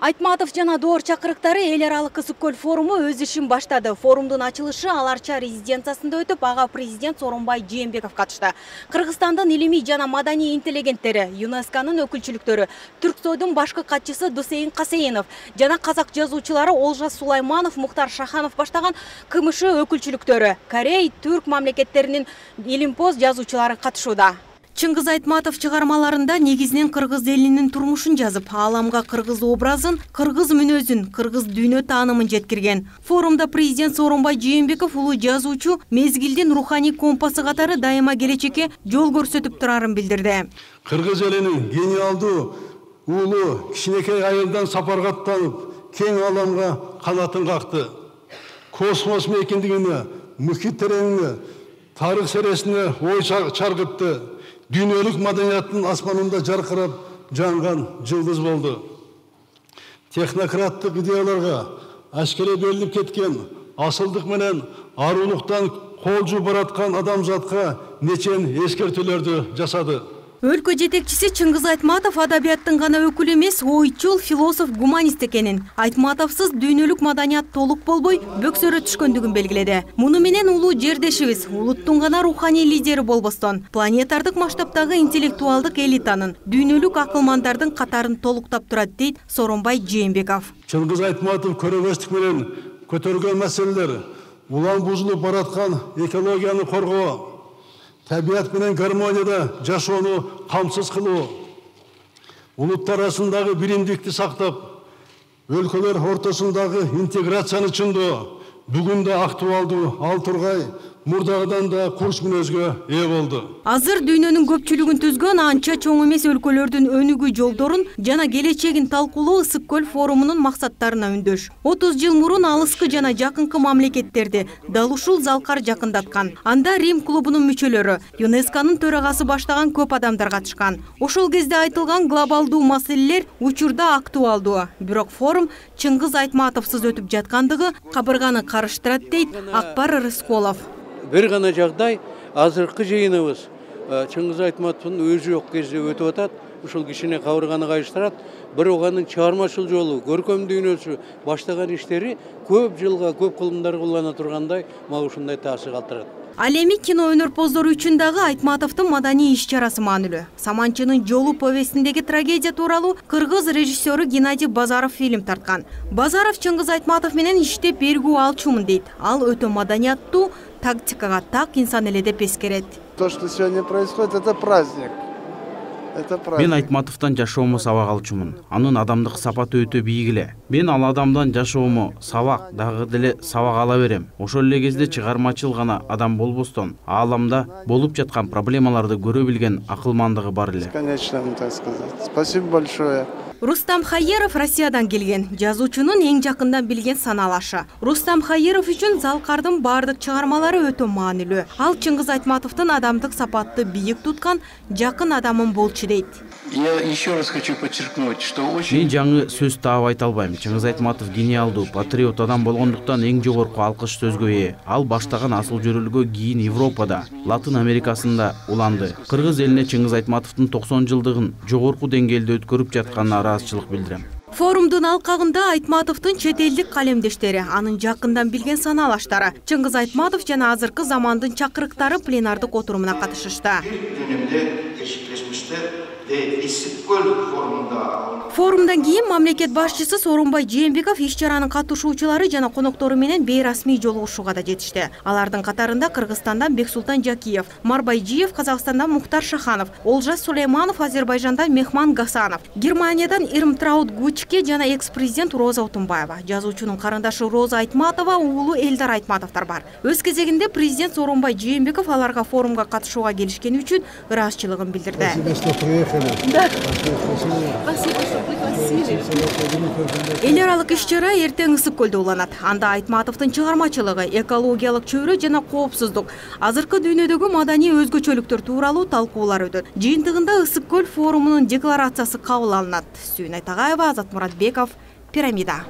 Айтматов жана Доор чакырыктары эл аралык Ысык көл форуму өз ишин баштады. Форумдун ачылышы Аларча резиденциясында өтүп, ага президент Сооронбай Жээнбеков катышты. Кыргызстандын илимий жана маданий интеллигенттери, ЮНЕСКОнун өкүлчүлүктөрү, Түрксойдун башкы катчысы Дусейин Касейинов жана казак жазуучулары Олжас Сулайманов, Мухтар Шаханов баштаган КМШ өкүлчүлүктөрү, Корей, Түрк мамлекеттеринин илимпоз жазуучулары катышууда. Чыңгыз Айтматов чыгармаларында негизинен кыргыз элинин турмушун жазып, ааламга кыргыз образын, кыргыз мүнөзүн, кыргыз дүйнө таанымын жеткирген. Форумда президент Сооронбай Жээнбеков улуу жазуучу мезгилдин руханий компасы катары дайыма келечекке жол көрсөтүп турарын билдирди. Кыргыз элинин гениалдуу уулу кичинекей айылдан сапарга аттанып, кең ааламга канатын какты. Космос мейкиндигине, мухит тереңине, тарых сересине ой чаргытты. Дүйнөлүк маданияттын асманында жаркырап жанган жылдыз болду. Технократтык идеяларга аскери берилип кеткен, асылдык менен арулуктан кол жууп бараткан адамзатка нечен эскертүүлөрдү жасады. Өлкө жетекчиси Чыңгыз Айтматов адабияттын гана өкүлү эмес, ойчул, философ, гуманист экенин, Айтматовсуз дүйнөлүк маданият толук болбой, бөксөрө түшкөндүгүн белгиледи. Муну менен улуу жердешибиз, улуттун гана руханий лидери болбостон, планетардык масштабтагы интеллектуалдык элитанын, дүйнөлүк акылмандардын катарын толуктап турат, дейт Сооронбай Жээнбеков. Чыңгыз Айтматов көрөбөстүк менен көтөргөн маселелер улам бузулуп бараткан экологияны коргоо, табият менен гармонияда жашоону камсыз кылуу, улуттар арасындагы биримдикти сактап, өлкөлөр ортосундагы интеграцияны чындоо бүгүн да актуалдуу, ал тургай мурдагыдан да курч мүнөзгө ээ болду. Азыр дүйнөнүн көпчүлүгүн түзгөн анча чоң эмес өлкөлөрдүн өнүгүү жолдорун жана келечегин талкуулоо Ысык көл форумунун максаттарына үндөш. 30 жыл мурун алыскы жана жакынкы мамлекеттерди дал ушул залкар жакындаткан. Анда Рим клубунун мүчөлөрү, ЮНЕСКОнун төрагасы баштаган көп адамдар катышкан. Ошол кезде айтылган глобалдуу маселелер учурда актуалдуу. Бирок форум Чыңгыз Айтматовсуз өтүп жаткандыгы кабырганы карыштырат, дейт Акбар Рысколов. Бир гана жагдай, азыркы жыйыныбыз Чыңгыз Айтматовдун өзү жок кезде өтүп атат. Ушул кишине кабырганы кайыштырат. Бирок анын чыгармачыл жолу, көркөм дүйнөсү, баштаган иштери көп жылга, көп кылымдарга улана тургандай, мага ушундай таасир калтырат. Ал эми кино өнөрпоздору үчүн дагы Айтматовдун маданий иш-чарасы маанилүү. Саманчынын жолу повестиндеги трагедия тууралуу кыргыз режиссеру Геннадий Базаров фильм тарткан. Базаров Чыңгыз Айтматов менен иштеп бергүү алчумун, дейт. Ал өтө маданияттуу, тактикага так инсан эле деп эскерет. То, что сегодня происходит, это праздник. Мен Айтматовдон жашоому сабак алчумун. Анын адамдык сапаты өтө бийик эле. Мен ал адамдан жашоому сабак, дагы деле сабак ала берем. Ошол эле кезде чыгармачыл гана адам болбостон, ааламда болуп жаткан проблемаларды көрө билген акылмандыгы бар эле. Конечно, так сказать. Спасибо большое. Рустам Хайеров Россиядан келген, жазуучунун эң жакындан билген саналашы. Рустам Хайеров үчүн залкардын бардык чыгармалары өтө маанилүү. Ал Чыңгыз Айтматовдун адамдык сапатты бийик туткан жакын адамын болчу, дейт. Я еще раз хочу подчеркнуть, что очень... Мен жаңы сөз таап айта албайм. Чыңгыз Айтматов гениалдуу, патриот адам болгондуктан эң жогорку алкыш сөзгө ээ. Ал баштаган асыл жөрөлгө кийин Европада, Латын Америкасында уланды. Кыргыз элине Чыңгыз Айтматовдун 90 жылдыгын жогорку деңгээлде өткөрүп жатканына ыраазычылык билдирем. Форумдун алкагында Айтматовдун чет элдик калемдештери, анын жакындан билген саналаштары, Чыңгыз Айтматов жана азыркы замандын чакырыктары пленардык отурумуна катышышты. Форумдан кийин мамлекет башчысы Сооронбай Жээнбеков иш-чаранын катышуучулары жана коноктору менен бейрасмий жолугушууга да жетишти. Алардын катарында Кыргызстандан Бексултан Жакиев, Марбайжиев, Казакстандан Мухтар Шаханов, Олжас Сулайманов, Азербайжандан Мехман Гасанов, Германиядан Ирмтраут Гучке жана экс-президент Роза Отунбаева, жазуучунун карындашы Роза Айтматова, уулу Элдар Айтматовдор бар. Өз кезегинде президент Сооронбай Жээнбеков аларга форумга катышууга келишкени үчүн ыраазычылыгын билдирди. Да. Спасибо, что пригласили. Эл аралык иш-чара эртең Ысык көлдө уланат. Анда Айтматовдун чыгармачылыгы, экологиялык чөйрө жана коопсуздук, азыркы дүйнөдөгү маданий өзгөчөлүктөр тууралуу талкуулар өтөт. Жыйынтыгында Ысык көл форумунун декларациясы кабыл алынат. Сүйүн Айтагаева, Азат Муратбеков, Пирамида.